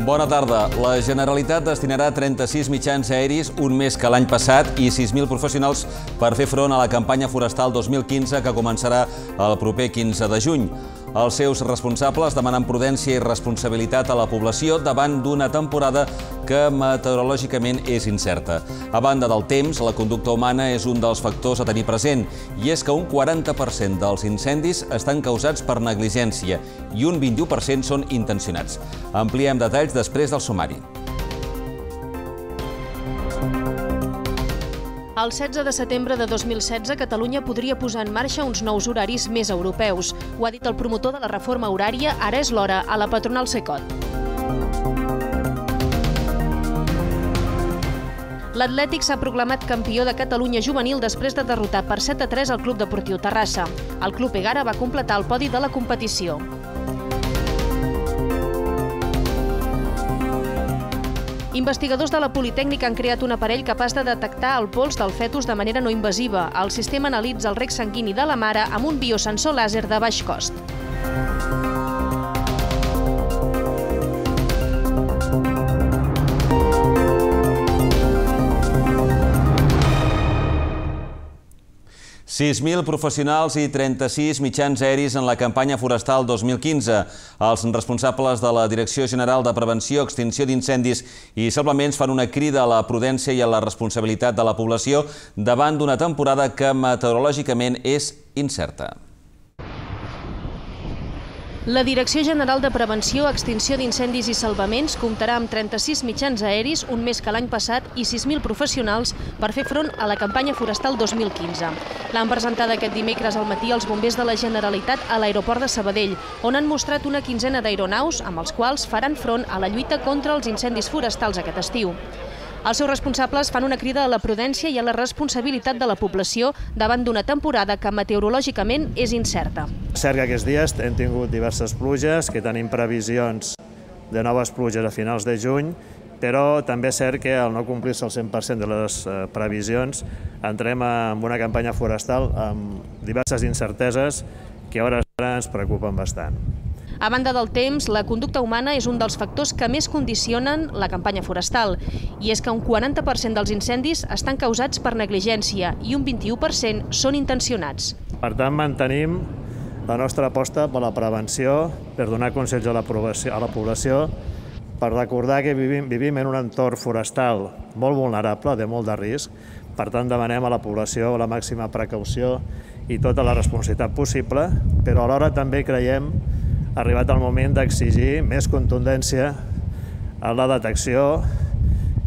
Bona tarda. La Generalitat destinarà 36 mitjans aeris, un més que l'any passat, i 6.000 professionals per fer front a la campanya forestal 2015 que començarà el proper 15 de juny. Els seus responsables demanen prudència i responsabilitat a la població davant d'una temporada que meteorològicament és incerta. A banda del temps, la conducta humana és un dels factors a tenir present, i és que un 40% dels incendis estan causats per negligència i un 21% són intencionats. Ampliem detalls després del sumari. El 16 de setembre de 2016, Catalunya podria posar en marxa uns nous horaris més europeus. Ho ha dit el promotor de la reforma horària, Ara és l'hora, a la patronal Cecot. L'Atlètic s'ha proclamat campió de Catalunya juvenil després de derrotar per 7-3 el Club Deportiu Terrassa. El Club Egara va completar el podi de la competició. Investigadors de la Politècnica han creat un aparell capaç de detectar el pols del fetus de manera no invasiva. El sistema analitza el reg sanguini de la mare amb un biosensor làser de baix cost. $6.000 professionals i 36 mitjans aeris en la campanya forestal 2015. Els responsables de la Direcció General de Prevenció, Extinció d'Incendis i Salvaments fan una crida a la prudència i a la responsabilitat de la població davant d'una temporada que meteorològicament és incerta. La Direcció General de Prevenció, Extinció d'Incendis i Salvaments comptarà amb 36 mitjans aeris, un més que l'any passat, i 6.000 professionals per fer front a la campanya forestal 2015. L'han presentada aquest dimecres al matí els bombers de la Generalitat a l'aeroport de Sabadell, on han mostrat una quinzena d'aeronaus amb els quals faran front a la lluita contra els incendis forestals aquest estiu. Els seus responsables fan una crida a la prudència i a la responsabilitat de la població davant d'una temporada que meteorològicament és incerta. És cert que aquests dies hem tingut diverses pluges, que tenim previsions de noves pluges a finals de juny, però també és cert que al no complir-se el 100% de les previsions entrem en una campanya forestal amb diverses incerteses que a hores d'ara ens preocupen bastant. A banda del temps, la conducta humana és un dels factors que més condicionen la campanya forestal. I és que un 40% dels incendis estan causats per negligència i un 21% són intencionats. Per tant, mantenim la nostra aposta per la prevenció, per donar consells a la població, per recordar que vivim en un entorn forestal molt vulnerable, de molt de risc. Per tant, demanem a la població la màxima precaució i tota la responsabilitat possible, però alhora també creiem arribat el moment d'exigir més contundència en la detecció,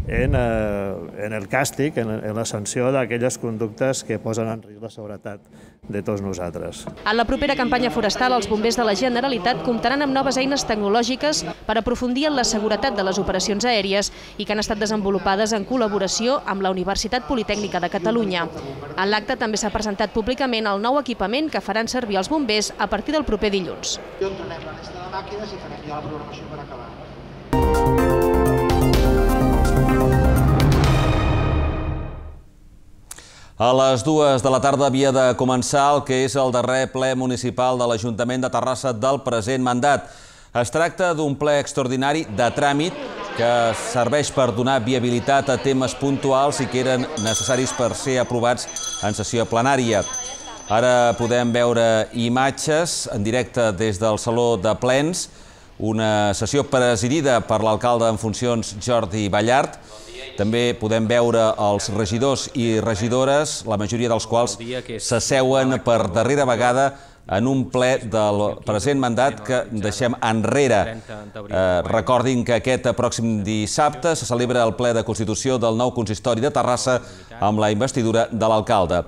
en el càstig, en la sanció d'aquelles conductes que posen en risc la seguretat de tots nosaltres. En la propera campanya forestal, els bombers de la Generalitat comptaran amb noves eines tecnològiques per aprofundir en la seguretat de les operacions aèries i que han estat desenvolupades en col·laboració amb la Universitat Politècnica de Catalunya. En l'acte també s'ha presentat públicament el nou equipament que faran servir els bombers a partir del proper dilluns. Entrenem la resta de màquines i farem ja la programació per acabar. A les 2 de la tarda havia de començar el que és el darrer ple municipal de l'Ajuntament de Terrassa del present mandat. Es tracta d'un ple extraordinari de tràmit que serveix per donar viabilitat a temes puntuals i que eren necessaris per ser aprovats en sessió plenària. Ara podem veure imatges en directe des del Saló de Plens, una sessió presidida per l'alcalde en funcions Jordi Ballart. També podem veure els regidors i regidores, la majoria dels quals s'asseuen per darrera vegada en un ple del present mandat que deixem enrere. Recordin que aquest pròxim dissabte se celebra el ple de constitució del nou consistori de Terrassa amb la investidura de l'alcalde.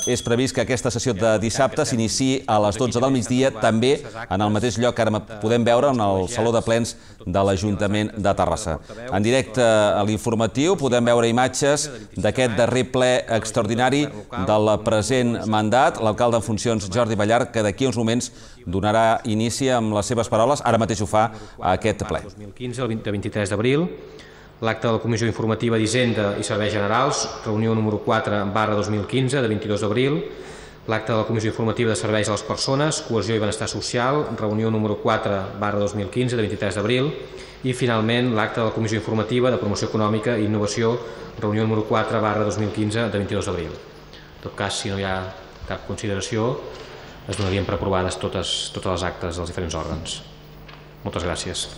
És previst que aquesta sessió de dissabte s'iniciï a les 12 del migdia, també en el mateix lloc que ara podem veure, en el Saló de Plens de l'Ajuntament de Terrassa. En directe a l'informatiu podem veure imatges d'aquest darrer ple extraordinari del present mandat. L'alcalde en funcions Jordi Ballart, que d'aquí uns moments donarà inici amb les seves paraules, ara mateix ho fa a aquest ple. 2015, el 23 d'abril. L'acte de la Comissió Informativa d'Hisenda i Serveis Generals, reunió número 4/2015, de 22 d'abril. l'acte de la Comissió Informativa de Serveis a les Persones, Cohesió i Benestar Social, reunió número 4/2015 de 23 d'abril, i finalment l'acte de la Comissió Informativa de Promoció Econòmica i Innovació, reunió número 4/2015 de 22 d'abril. En tot cas, si no hi ha cap consideració, es donarien per aprovades totes les actes dels diferents òrgans. Moltes gràcies.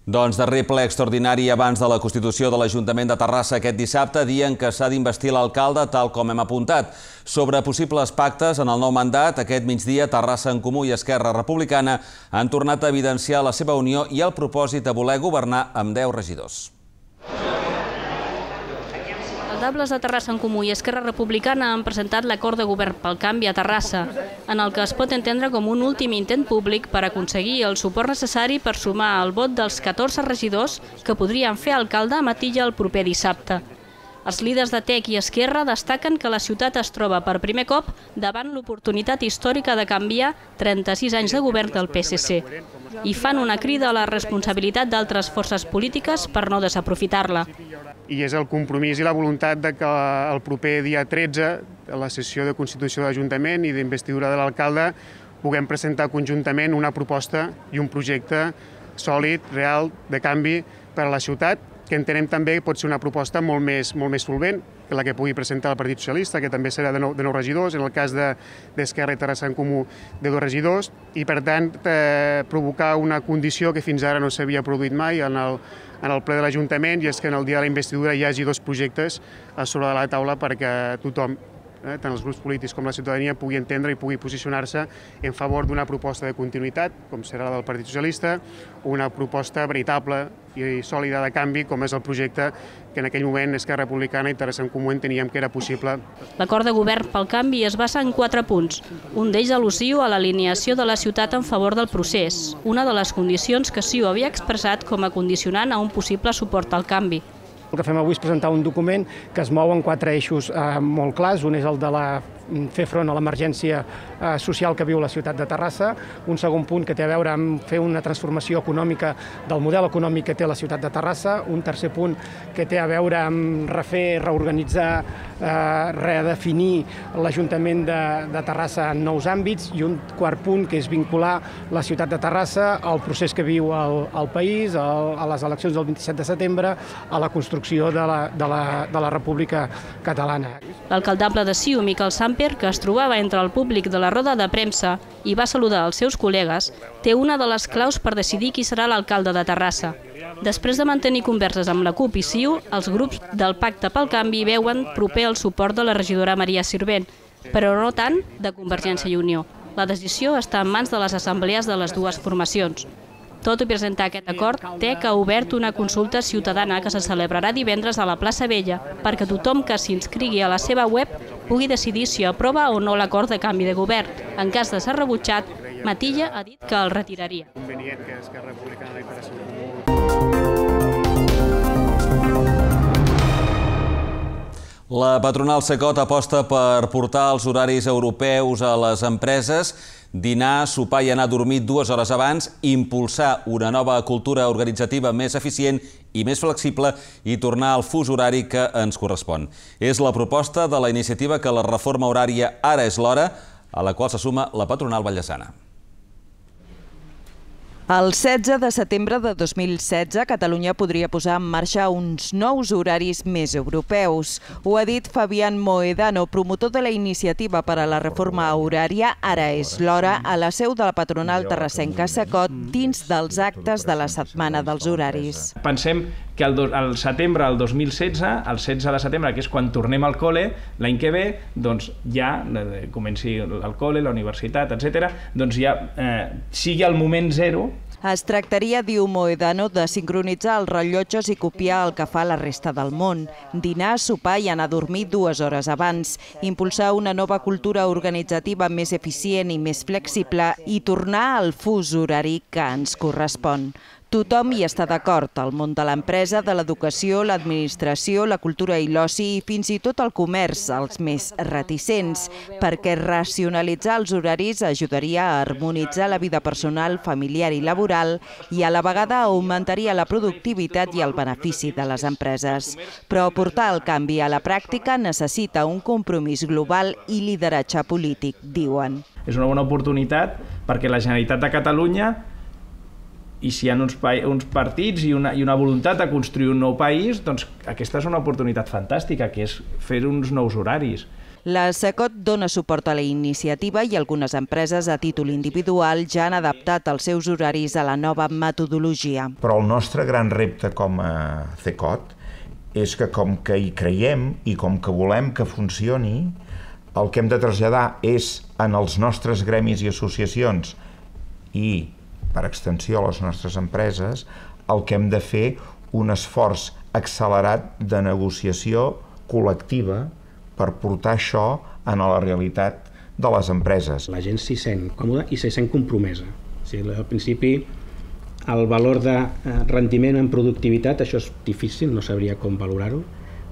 Doncs darrer ple extraordinari abans de la constitució de l'Ajuntament de Terrassa aquest dissabte, dia en què s'ha d'investir l'alcalde, tal com hem apuntat. Sobre possibles pactes en el nou mandat, aquest migdia Terrassa en Comú i Esquerra Republicana han tornat a evidenciar la seva unió i el propòsit de voler governar amb 10 regidors. Els alcaldables de Terrassa en Comú i Esquerra Republicana han presentat l'acord de govern pel canvi a Terrassa, en el que es pot entendre com un últim intent públic per aconseguir el suport necessari per sumar el vot dels 14 regidors que podrien fer alcalde a Matilla el proper dissabte. Els líders de TEC i Esquerra destaquen que la ciutat es troba per primer cop davant l'oportunitat històrica de canviar 36 anys de govern del PSC i fan una crida a la responsabilitat d'altres forces polítiques per no desaprofitar-la. I és el compromís i la voluntat de que el proper dia 13, a la sessió de constitució de l'Ajuntament i d'investidura de l'alcalde, puguem presentar conjuntament una proposta i un projecte sòlid, real, de canvi per a la ciutat, que entenem també que pot ser una proposta molt més solvent que la que pugui presentar el Partit Socialista, que també serà de 9 regidors, en el cas d'Esquerra i Terrassa en Comú de 2 regidors, i per tant provocar una condició que fins ara no s'havia produït mai en el ple de l'Ajuntament, i és que en el dia de la investidura hi hagi 2 projectes a sobre de la taula perquè tothom, tant els grups polítics com la ciutadania, pugui entendre i pugui posicionar-se en favor d'una proposta de continuïtat, com serà la del Partit Socialista, una proposta veritable i sòlida de canvi, com és el projecte que en aquell moment Esquerra Republicana i Terrassa en Comú enteníem que era possible. L'acord de govern pel canvi es basa en 4 punts, un d'ells al·lusiu a l'alineació de la ciutat en favor del procés, una de les condicions que CiU havia expressat com a condicionant a un possible suport al canvi. El que fem avui és presentar un document que es mou en 4 eixos molt clars. Un és el de fer front a l'emergència social que viu la ciutat de Terrassa, un segon punt que té a veure amb fer una transformació econòmica del model econòmic que té la ciutat de Terrassa, un tercer punt que té a veure amb reorganitzar, redefinir l'Ajuntament de Terrassa en nous àmbits, i un quart punt que és vincular la ciutat de Terrassa al procés que viu el país, a les eleccions del 27 de setembre, a la construcció de la República Catalana. L'alcaldable de CiU, Miquel Samper, que es trobava entre el públic de la roda de premsa i va saludar els seus col·legues, té una de les claus per decidir qui serà l'alcalde de Terrassa. Després de mantenir converses amb la CUP i CiU, els grups del Pacte pel Canvi veuen proper el suport de la regidora Maria Sirvent, però no tant de Convergència i Unió. La decisió està en mans de les assemblees de les dues formacions. Tot i presentar aquest acord, TEC ha obert una consulta ciutadana que se celebrarà divendres a la plaça Vella perquè tothom que s'inscrigui a la seva web pugui decidir si aprova o no l'acord de canvi de govern. En cas de ser rebutjat, Matilla ha dit que el retiraria. La patronal Cecot aposta per portar els horaris europeus a les empreses, dinar, sopar i anar a dormir 2 hores abans, impulsar una nova cultura organitzativa més eficient i més flexible i tornar al fus horari que ens correspon. És la proposta de la iniciativa que la reforma horària ara és l'hora, a la qual se suma la patronal vallesana. El 16 de setembre de 2016, Catalunya podria posar en marxa uns nous horaris més europeus. Ho ha dit Fabián Moedano, promotor de la iniciativa per a la reforma horària Ara és l'hora, a la seu de la patronal terrassenca Cecot, dins dels actes de la Setmana dels Horaris. Pensem que al setembre del 2016, el 16 de setembre, que és quan tornem al col·le, l'any que ve, doncs ja comenci el col·le, la universitat, etc., doncs ja sigui el moment zero. Es tractaria, diu Moedano, de sincronitzar els rellotges i copiar el que fa la resta del món. Dinar, sopar i anar a dormir 2 hores abans. Impulsar una nova cultura organitzativa més eficient i més flexible i tornar al fus horari que ens correspon. Tothom hi està d'acord, el món de l'empresa, de l'educació, l'administració, la cultura i l'oci i fins i tot el comerç, els més reticents, perquè racionalitzar els horaris ajudaria a harmonitzar la vida personal, familiar i laboral i a la vegada augmentaria la productivitat i el benefici de les empreses. Però portar el canvi a la pràctica necessita un compromís global i lideratge polític, diuen. És una bona oportunitat perquè la Generalitat de Catalunya, i si hi ha uns partits i una voluntat de construir un nou país, doncs aquesta és una oportunitat fantàstica, que és fer uns nous horaris. La SECOT dona suport a la iniciativa i algunes empreses a títol individual ja han adaptat els seus horaris a la nova metodologia. Però el nostre gran repte com a CECOT és que com que hi creiem i com que volem que funcioni, el que hem de traslladar és en els nostres gremis i associacions i per extensió a les nostres empreses, el que hem de fer un esforç accelerat de negociació col·lectiva per portar això a la realitat de les empreses. La gent s'hi sent còmoda i s'hi sent compromesa. Al principi, el valor de rendiment en productivitat, això és difícil, no sabria com valorar-ho,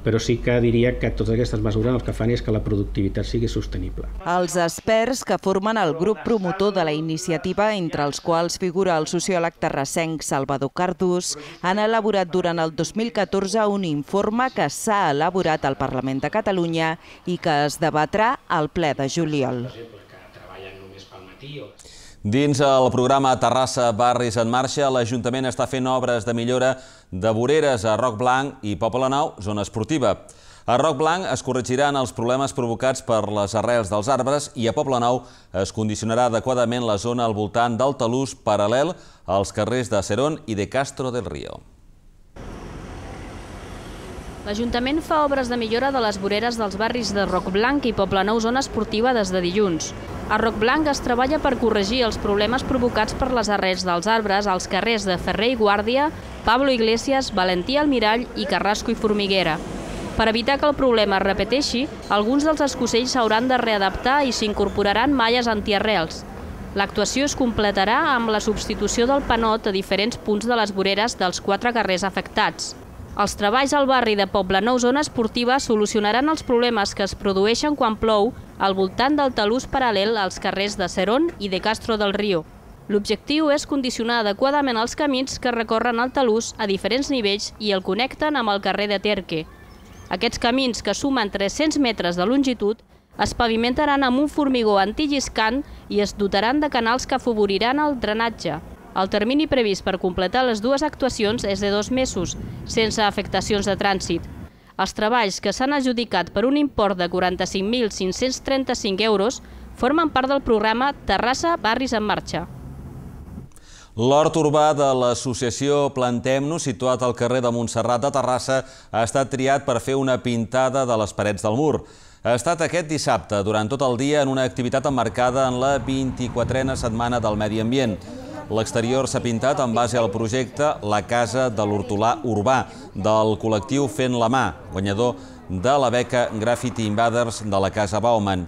però sí que diria que totes aquestes mesures el que fan és que la productivitat sigui sostenible. Els experts que formen el grup promotor de la iniciativa, entre els quals figura el sociòleg terrassenc Salvador Cardús, han elaborat durant el 2014 un informe que s'ha elaborat al Parlament de Catalunya i que es debatrà al ple de juliol. Dins el programa Terrassa Barris en Marxa, l'Ajuntament està fent obres de millora de voreres a Roc Blanc i Poble Nou, zona esportiva. A Roc Blanc es corregiran els problemes provocats per les arrels dels arbres i a Poble Nou es condicionarà adequadament la zona al voltant del talús paral·lel als carrers de Cerón i de Castro del Río. L'Ajuntament fa obres de millora de les voreres dels barris de Roc Blanc i Poble Nou, zona esportiva, des de dilluns. A Roc Blanc es treballa per corregir els problemes provocats per les arrels dels arbres als carrers de Ferrer i Guàrdia, Pablo Iglesias, Valentí Almirall i Carrasco i Formiguera. Per evitar que el problema es repeteixi, alguns dels escocells s'hauran de readaptar i s'incorporaran malles antiarrels. L'actuació es completarà amb la substitució del panot a diferents punts de les voreres dels 4 carrers afectats. Els treballs al barri de Poble Nou, zona esportiva, solucionaran els problemes que es produeixen quan plou al voltant del talús paral·lel als carrers de Cerón i de Castro del Río. L'objectiu és condicionar adequadament els camins que recorren el talús a diferents nivells i el connecten amb el carrer de Terque. Aquests camins, que sumen 300 metres de longitud, es pavimentaran amb un formigó antilliscant i es dotaran de canals que afavoriran el drenatge. El termini previst per completar les dues actuacions és de 2 mesos, sense afectacions de trànsit. Els treballs, que s'han adjudicat per un import de 45.535 euros, formen part del programa Terrassa Barris en Marxa. L'hort urbà de l'associació Plantem-nos, situat al carrer de Montserrat de Terrassa, ha estat triat per fer una pintada de les parets del mur. Ha estat aquest dissabte, durant tot el dia, en una activitat emmarcada en la 24a Setmana del Medi Ambient. L'exterior s'ha pintat en base al projecte La Casa de l'Hortolà Urbà, del col·lectiu Fent la Mà, guanyador de la beca Graffiti Invaders de la Casa Bauman.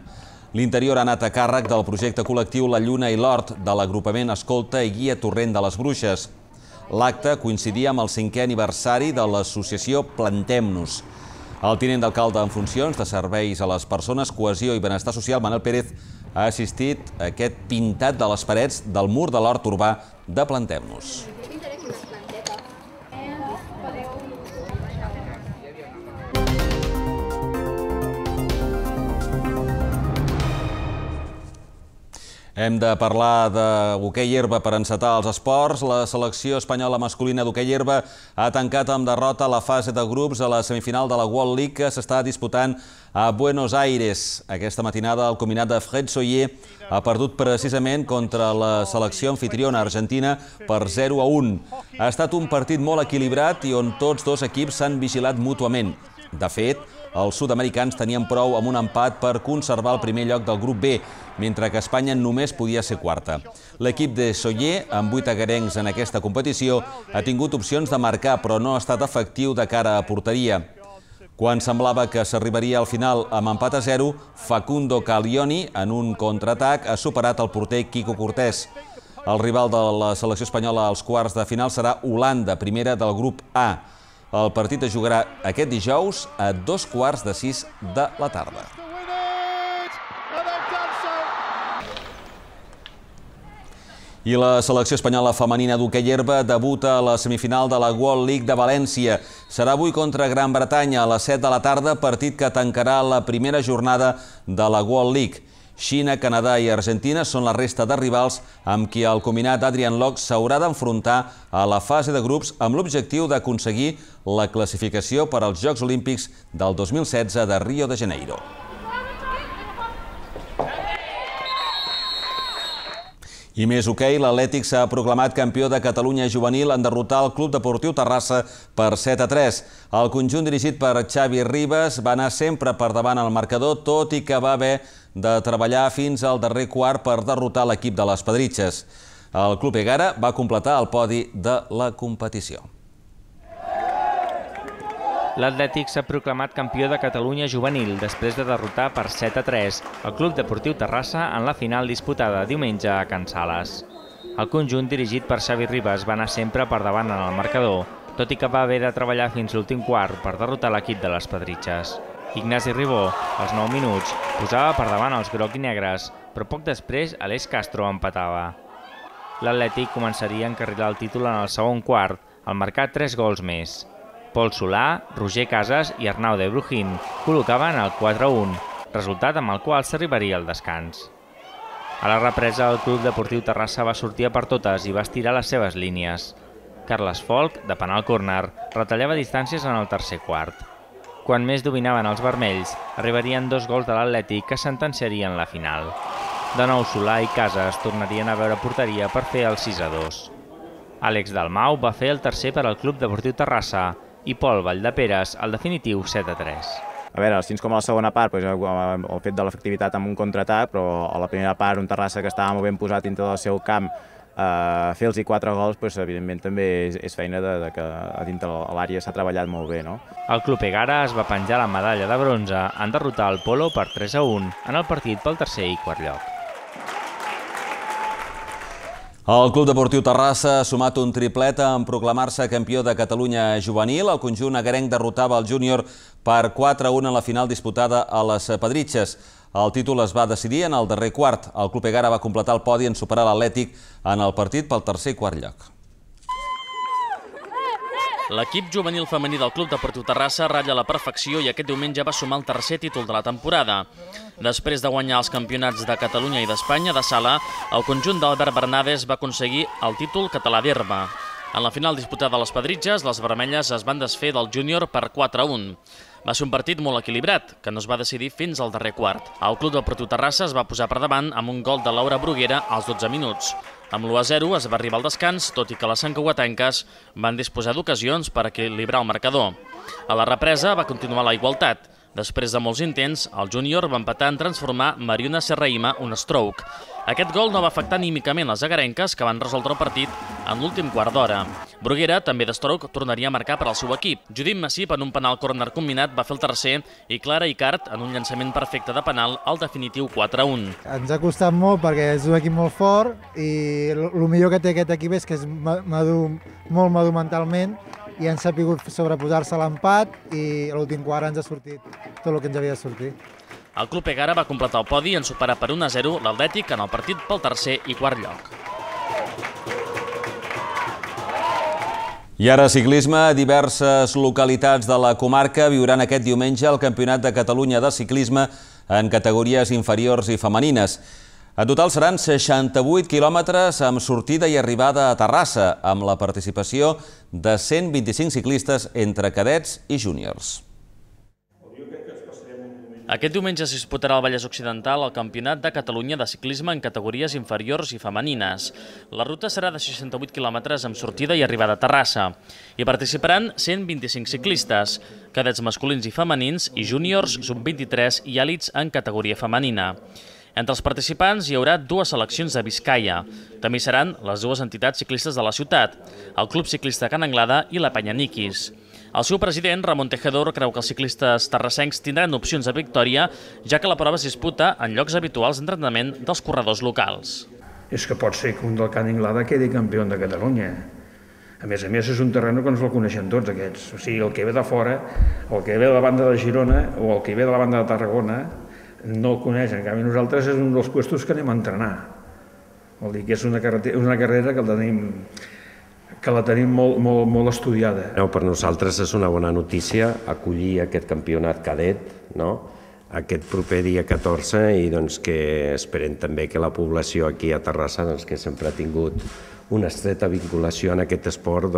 L'interior ha anat a càrrec del projecte col·lectiu La Lluna i l'Hort, de l'agrupament Escolta i Guia Torrent de les Bruixes. L'acte coincidia amb el 5è aniversari de l'associació Plantem-nos. El tinent d'alcalde en funcions de Serveis a les Persones, Cohesió i Benestar Social, Manel Pérez, ha assistit a aquest pintat de les parets del mur de l'hort urbà de Plantem-nos. Hem de parlar d'hoquei herba per encetar els esports. La selecció espanyola masculina d'hoquei herba ha tancat amb derrota la fase de grups a la semifinal de la World League que s'està disputant a Buenos Aires. Aquesta matinada el combinat de Fred Soller ha perdut precisament contra la selecció anfitriona argentina per 0-1. Ha estat un partit molt equilibrat i on tots dos equips s'han vigilat mútuament. De fet, els sud-americans tenien prou amb un empat per conservar el primer lloc del grup B, mentre que Espanya només podia ser quarta. L'equip de Soller, amb 8 agarencs en aquesta competició, ha tingut opcions de marcar, però no ha estat efectiu de cara a porteria. Quan semblava que s'arribaria al final amb empat a 0, Facundo Caglioni, en un contraatac, ha superat el porter Quico Cortés. El rival de la selecció espanyola als quarts de final serà Holanda, primera del grup A. El partit es jugarà aquest dijous a 5:45 de la tarda. I la selecció espanyola femenina d'hoquei herba debuta a la semifinal de la World League de València. Serà avui contra Gran Bretanya a les 7 de la tarda, partit que tancarà la primera jornada de la World League. Xina, Canadà i Argentina són la resta de rivals amb qui el combinat Adrian Locke s'haurà d'enfrontar a la fase de grups amb l'objectiu d'aconseguir la classificació per als Jocs Olímpics del 2016 de Rio de Janeiro. I més hoquei, l'Atlètic s'ha proclamat campió de Catalunya juvenil en derrotar el Club Deportiu Terrassa per 7-3. El conjunt dirigit per Xavi Ribas va anar sempre per davant al marcador, tot i que va haver de treballar fins al darrer quart per derrotar l'equip de les Pedritxes. El Club Egara va completar el podi de la competició. L'Atlètic s'ha proclamat campió de Catalunya juvenil després de derrotar per 7-3 el Club Deportiu Terrassa en la final disputada diumenge a Can Sales. El conjunt dirigit per Xavi Ribas va anar sempre per davant en el marcador, tot i que va haver de treballar fins l'últim quart per derrotar l'equip de les Pedritxes. Ignasi Ribó, als 9 minuts, posava per davant els groc i negres, però poc després Aleix Castro empatava. L'Atlètic començaria a encarrilar el títol en el segon quart, al marcar 3 gols més. Pol Solà, Roger Casas i Arnau de Brujín col·locaven el 4-1, resultat amb el qual s'arribaria al descans. A la represa, el Club Deportiu Terrassa va sortir a per totes i va estirar les seves línies. Carles Folch, de penal córner, retallava distàncies en el tercer quart. Quan més dominaven els vermells, arribarien 2 gols de l'Atlètic que sentenciarien la final. De nou, Solà i Casas tornarien a veure porteria per fer el 6-2. Àlex Dalmau va fer el tercer per al Club Deportiu Terrassa i Pol Valldeperes el definitiu 7-3. A veure, així com a la segona part, el fet de l'efectivitat amb un contraatac, però a la primera part un Terrassa que estava molt ben posat dintre del seu camp, fer-los 4 gols, evidentment també és feina que a dintre l'àrea s'ha treballat molt bé. El Club Egara es va penjar la medalla de bronze en derrotar el Polo per 3-1 en el partit pel tercer i quart lloc. El Club Deportiu Terrassa ha sumat un triplet en proclamar-se campió de Catalunya juvenil. El conjunt agarenc derrotava el júnior per 4-1 en la final disputada a les Pedritxes. El títol es va decidir en el darrer quart. El Club Egara va completar el podi en superar l'Atlètic en el partit pel tercer i quart lloc. L'equip juvenil femení del Club Deportiu Terrassa ratlla la perfecció i aquest diumenge va sumar el tercer títol de la temporada. Després de guanyar els campionats de Catalunya i d'Espanya de sala, el conjunt d'Albert Bernades va aconseguir el títol català d'herba. En la final disputada a les Pedritxes, les vermelles es van desfer del júnior per 4-1. Va ser un partit molt equilibrat, que no es va decidir fins al darrer quart. El Club Deportiu Terrassa es va posar per davant amb un gol de Laura Bruguera als 12 minuts. Amb l'1-0 es va arribar al descans, tot i que les santcugatenques van disposar d'ocasions per equilibrar el marcador. A la represa va continuar la igualtat. Després de molts intents, el júnior va empatar en transformar Mariona Serraïma un stroke. Aquest gol no va afectar anímicament les agarenques, que van resoldre el partit en l'últim quart d'hora. Bruguera, també de stroke, tornaria a marcar per al seu equip. Judit Massip, en un penal córner combinat, va fer el tercer i Clara Icart, en un llançament perfecte de penal, el definitiu 4-1. Ens ha costat molt perquè és un equip molt fort i el millor que té aquest equip és que és molt madur mentalment i han sabut sobreposar-se a l'empat i a l'últim quart ens ha sortit tot el que ens havia de sortir. El Club Egara va completar el podi en superar per 1-0 l'Atlètic en el partit pel tercer i quart lloc. I ara ciclisme. Diverses localitats de la comarca viuran aquest diumenge el Campionat de Catalunya de ciclisme en categories inferiors i femenines. En total seran 68 quilòmetres amb sortida i arribada a Terrassa, amb la participació de 125 ciclistes entre cadets i júniors. Aquest diumenge es disputarà al Vallès Occidental el Campionat de Catalunya de ciclisme en categories inferiors i femenines. La ruta serà de 68 quilòmetres amb sortida i arribada a Terrassa. Hi participaran 125 ciclistes, cadets masculins i femenins i júniors, sub-23 i èlits en categoria femenina. Entre els participants hi haurà 2 seleccions de Biscaia. També hi seran les 2 entitats ciclistes de la ciutat, el Club Ciclista Can Anglada i la Penya Niquis. El seu president, Ramon Tejedor, creu que els ciclistes terrassencs tindran opcions de victòria, ja que la prova es disputa en llocs habituals d'entrenament dels corredors locals. és que pot ser que un del Can Inglada quedi campió de Catalunya. A més, és un terreny que ens el coneixen tots, aquests. O sigui, el que ve de fora, el que ve de la banda de Girona o el que ve de la banda de Tarragona, no el coneixen. En canvi, nosaltres és un dels puestos que anem a entrenar. Vol dir que és una carrera que la tenim molt estudiada. Per nosaltres és una bona notícia acollir aquest campionat cadet, aquest proper dia 14, i que esperem també que la població aquí a Terrassa, que sempre ha tingut una estreta vinculació en aquest esport,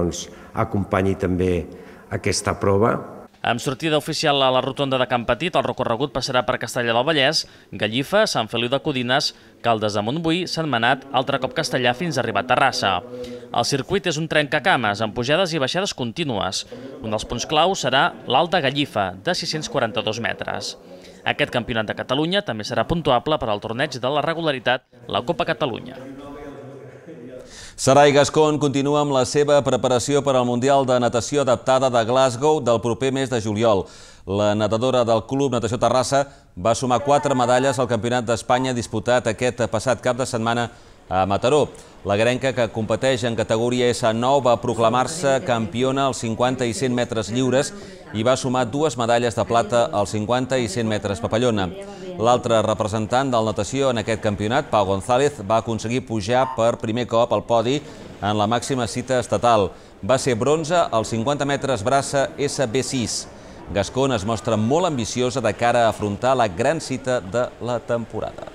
acompanyi també aquesta prova. Amb sortida oficial a la rotonda de Can Petit, el recorregut passarà per Castellar del Vallès, Gallifa, Sant Feliu de Codines, Caldes de Montbui, Sentmenat, altre cop Castellar fins a arribar a Terrassa. El circuit és un trencacames, amb pujades i baixades contínues. Un dels punts clau serà l'Alt de Gallifa, de 642 metres. Aquest campionat de Catalunya també serà puntuable per al torneig de la regularitat, la Copa Catalunya. Sarai Gascón continua amb la seva preparació per al Mundial de Natació Adaptada de Glasgow del proper mes de juliol. La nedadora del Club Natació Terrassa va sumar 4 medalles al Campionat d'Espanya disputat aquest passat cap de setmana a Mataró. La greca, que competeix en categoria S9, va proclamar-se campiona als 50 i 100 metres lliures i va sumar 2 medalles de plata als 50 i 100 metres papallona. L'altre representant del natació en aquest campionat, Pau González, va aconseguir pujar per primer cop al podi en la màxima cita estatal. Va ser bronze als 50 metres braça SB6. Gascón es mostra molt ambiciosa de cara a afrontar la gran cita de la temporada.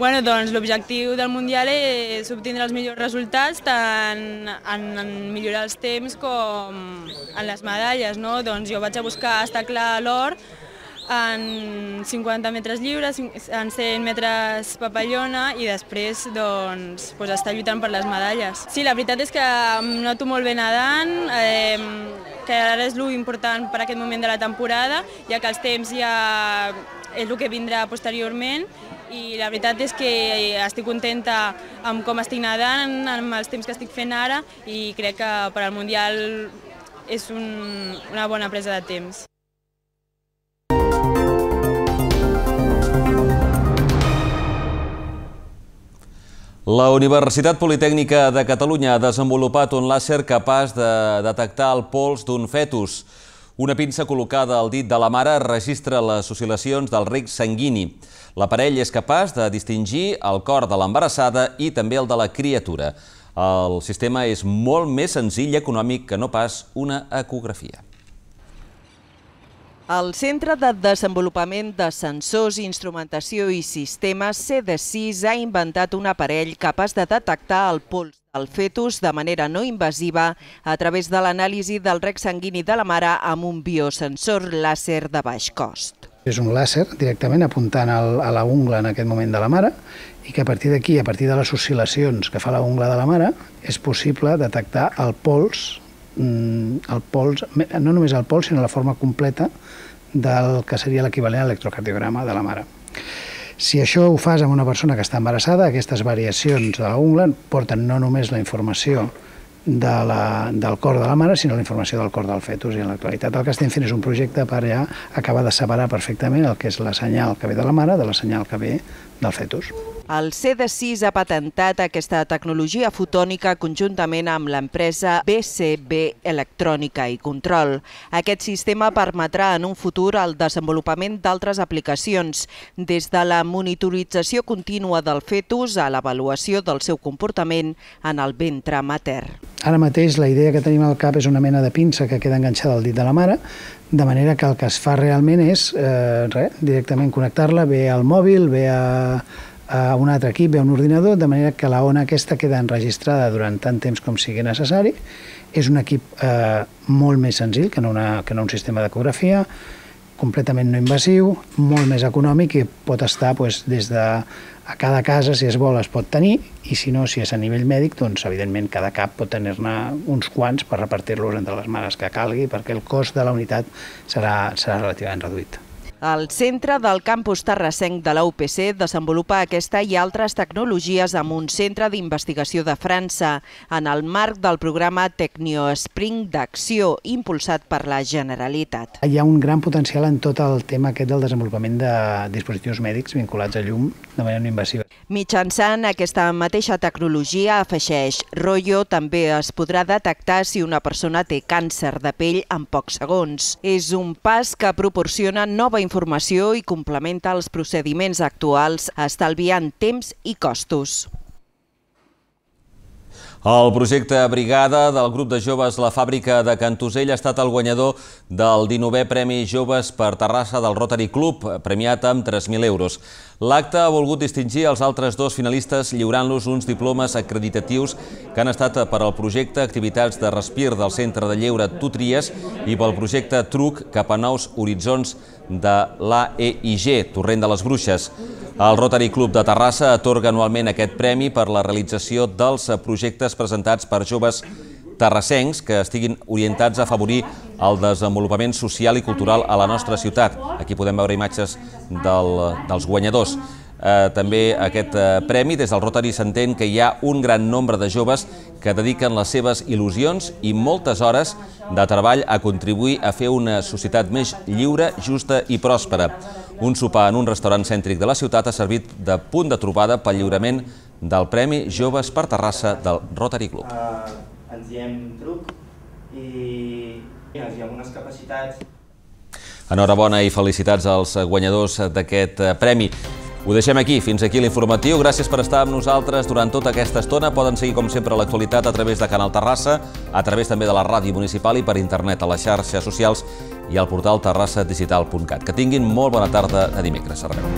L'objectiu del Mundial és obtindre els millors resultats tant en millorar els temps com en les medalles. Jo vaig a buscar, està clar, l'or en 50 metres lliures, en 100 metres papallona i després estar lluitant per les medalles. Sí, la veritat és que em noto molt bé nedant, que ara és l'important per aquest moment de la temporada, ja que els temps ja és el que vindrà posteriorment, i la veritat és que estic contenta amb com estic nedant, amb els temps que estic fent ara, i crec que per al Mundial és una bona presa de temps. La Universitat Politècnica de Catalunya ha desenvolupat un làser capaç de detectar el pols d'un fetus. Una pinça col·locada al dit de la mare registra les oscil·lacions del reg sanguini. L'aparell és capaç de distingir el cor de l'embarassada i també el de la criatura. El sistema és molt més senzill i econòmic que no pas una ecografia. El Centre de Desenvolupament de Sensors, Instrumentació i Sistemes, CD6, ha inventat un aparell capaç de detectar el pols del fetus de manera no invasiva a través de l'anàlisi del reg sanguini de la mare amb un biosensor làser de baix cost. És un làser directament apuntant a la ungla en aquest moment de la mare i que a partir d'aquí, a partir de les oscil·lacions que fa la ungla de la mare, és possible detectar el pols, no només el pols, sinó la forma completa del que seria l'equivalent a l'electrocardiograma de la mare. Si això ho fas amb una persona que està embarassada, aquestes variacions de la ungla porten no només la informació del cor de la mare, sinó la informació del cor del fetus. I en l'actualitat el que estem fent és un projecte per ja acabar de separar perfectament el que és la senyal que ve de la mare de la senyal que ve del fetus. El CD6 ha patentat aquesta tecnologia fotònica conjuntament amb l'empresa BCB Electrònica i Control. Aquest sistema permetrà en un futur el desenvolupament d'altres aplicacions, des de la monitorització contínua del fetus a l'avaluació del seu comportament en el ventre matern. Ara mateix la idea que tenim al cap és una mena de pinça que queda enganxada al dit de la mare, de manera que el que es fa realment és directament connectar-la bé al mòbil, bé a un altre equip, bé a un ordinador, de manera que la ona aquesta queda enregistrada durant tant temps com sigui necessari. És un equip molt més senzill que no un sistema d'ecografia, completament no invasiu, molt més econòmic i pot estar des de a cada casa, si es vol, es pot tenir, i si no, si és a nivell mèdic, doncs evidentment cada cap pot tenir-ne uns quants per repartir-los entre les mares que calgui, perquè el cost de la unitat serà relativament reduït. El centre del campus terrassenc de la UPC desenvolupa aquesta i altres tecnologies amb un centre d'investigació de França en el marc del programa TecnioSpring d'acció impulsat per la Generalitat. Hi ha un gran potencial en tot el tema aquest del desenvolupament de dispositius mèdics vinculats a llum de manera no invasiva. Mitjançant aquesta mateixa tecnologia, afegeix Royo, també es podrà detectar si una persona té càncer de pell en pocs segons. És un pas que proporciona nova informació i complementa els procediments actuals, estalviant temps i costos. El projecte Brigada del grup de joves La Fàbrica de Cantosell ha estat el guanyador del 19è Premi Joves per Terrassa del Rotary Club, premiat amb 3.000 euros. L'acte ha volgut distingir els altres dos finalistes lliurant-los uns diplomes acreditatius que han estat per al projecte Activitats de Respir del Centre de Lleure Tu Tries i pel projecte Truc cap a nous horitzons de l'AEIG, Torrent de les Bruixes. El Rotary Club de Terrassa atorga anualment aquest premi per la realització dels projectes presentats per joves terrassencs que estiguin orientats a afavorir el desenvolupament social i cultural a la nostra ciutat. Aquí podem veure imatges dels guanyadors. També aquest premi, des del Rotary s'entén que hi ha un gran nombre de joves que dediquen les seves il·lusions i moltes hores de treball a contribuir a fer una societat més lliure, justa i pròspera. Un sopar en un restaurant cèntric de la ciutat ha servit de punt de trobada pel lliurament del Premi Joves per Terrassa del Rotary Club. Ens diem Truc i ens diem unes capacitats. Enhorabona i felicitats als guanyadors d'aquest premi. Ho deixem aquí, fins aquí l'informatiu. Gràcies per estar amb nosaltres durant tota aquesta estona. Poden seguir, com sempre, l'actualitat a través de Canal Terrassa, a través també de la ràdio municipal i per internet a les xarxes socials i al portal terrassadigital.cat. Que tinguin molt bona tarda de dimecres. Adéu.